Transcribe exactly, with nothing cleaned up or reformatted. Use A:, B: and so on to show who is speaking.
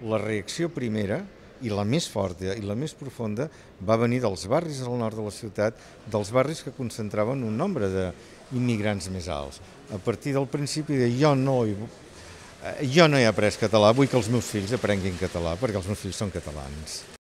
A: La reacció primera, i la més forta i la més profunda, va venir dels barris al nord de la ciutat, dels barris que concentraven un nombre d'immigrants més alts. A partir del principi de jo no, hi, jo no he après català, vull que els meus fills aprenguin català, perquè els meus fills són catalans.